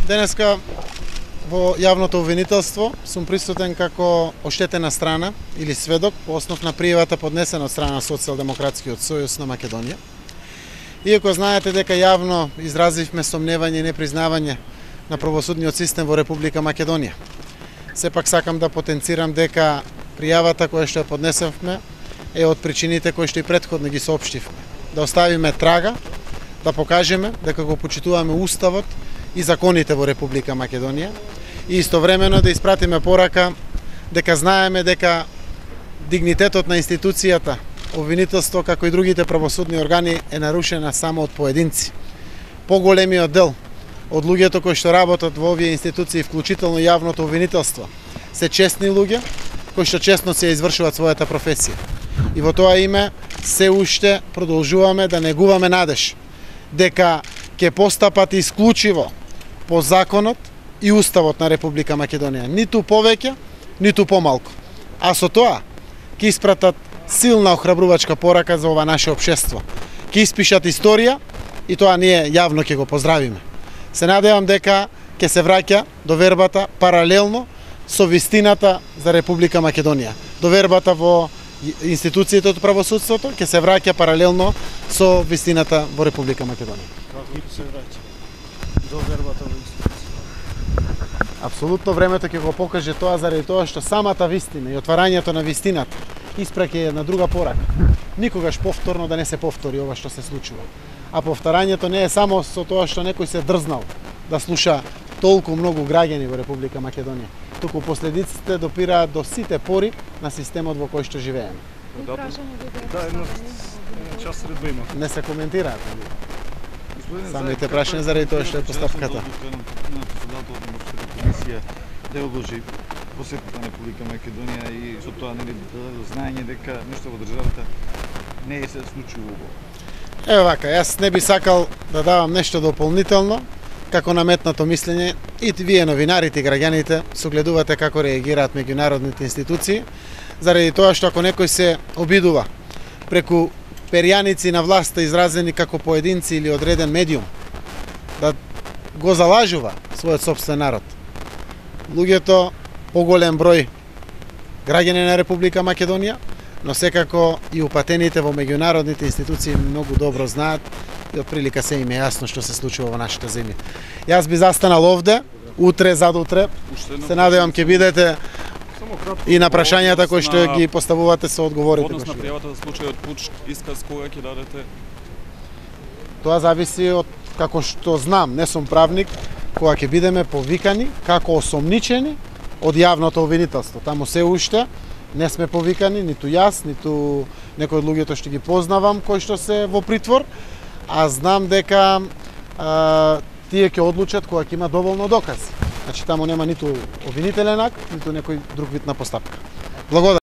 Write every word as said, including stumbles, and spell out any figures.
Денеска во јавното обвинителство сум присутен како оштетена страна или сведок по основ на пријавата поднесена од страна на Социјалдемократскиот сојуз на Македонија. Иако знаете дека јавно изразивме сомневање и непризнавање на правосудниот систем во Република Македонија, сепак сакам да потенцирам дека пријавата која што ја поднесевме е од причините кои што и претходно ги соопштивме. Да оставиме трага, да покажеме дека го почитуваме уставот и законите во Република Македонија и истовремено да испратиме порака дека знаеме дека дигнитетот на институцијата, обвинителство како и другите правосудни органи е нарушена само од поединци. Поголемиот дел од луѓето кои што работат во овие институции, вклучително јавното обвинителство, се честни луѓе кои што честно се извршуваат својата професија. И во тоа име се уште продолжуваме да негуваме надеж дека ќе постапат исклучиво по законот и уставот на Република Македонија, ниту повеќе, ниту помалку. А со тоа ќе испратат силна охрабрувачка порака за ова наше општество. Ќе испишат историја и тоа ние јавно ќе го поздравиме. Се надевам дека ќе се враќа довербата паралелно со вистината за Република Македонија. Довербата во институциите од правосудството ќе се враќа паралелно со вистината во Република Македонија. Како се враќа довербата во институциите? Апсолутно времето ќе го покаже тоа, заради тоа што самата вистина и отварањето на вистината испраќа една друга порака. Никогаш повторно да не се повтори ова што се случува. А повторањето не е само со тоа што некој се дрзнал да слуша толку многу граѓани во Република Македонија, туку последиците допираат до сите пори на системот во кој што живееме. Да, едно час редба има. Не се коментираат. Самите прашања заради тоа што е постапката. На председателот на Обштата комисија да одложи посетата на Република Македонија и со тоа нели да даде знаење дека нешто во државата не е се случило. Ево вака, јас не би сакал да давам нешто дополнително како наметнато мислење, и вие новинарите и граѓаните согледувате како реагираат меѓународните институции, заради тоа што ако некој се обидува преку перјаници на власта изразени како поединци или одреден медиум да го залажува својот сопствен народ, луѓето, поголем број граѓани на Република Македонија, но секако и упатените во меѓународните институции многу добро знаат и отприлика се им е јасно што се случува во нашата земја. Јас би застанал овде, утре, задутре, се надевам ќе бидете и на прашањата кои што ги поставувате се одговорите. Однос на пријавата за случајот Пуч, исказ кога ќе дадете? Тоа зависи од, како што знам, не сум правник, кога ќе бидеме повикани како осомничени од јавното обвинителство. Таму се уште не сме повикани, ниту јас, ниту некој од луѓето што ги познавам кои што се во притвор, а знам дека а, тие ќе одлучат кога ќе има доволно докази. Значи таму нема ниту обвинителен акт, ниту некој друг вид на постапка. Благодарам.